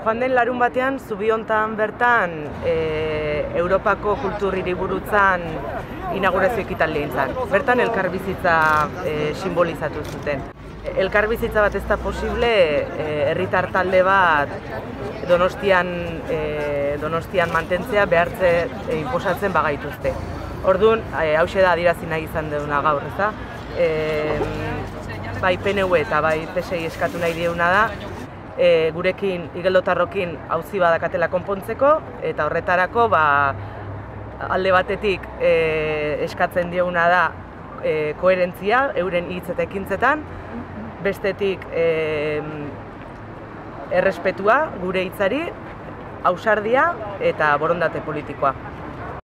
Joan den larun batean, Zubiontan bertan, Europako kultur hiriburutzan inaugurazio ekitaldia egin zen. Bertan elkarbizitza simbolizatu zuten. Elkarbizitza bat ez da posible, herritar talde bat Donostian mantentzea behartze inposatzen bagaituzte. Orduan, hauxe da adierazi nahi izan duguna gaur, ez da? Bai PNV eta bai PSI eskatu nahi dieguna da, gurekin, igeldotarrokin auzi badakatela konpontzeko, eta horretarako alde batetik eskatzen dieguna da koherentzia, euren hitz eta ekintzetan, bestetik errespetua gure hitzari, ausardia eta borondate politikoa.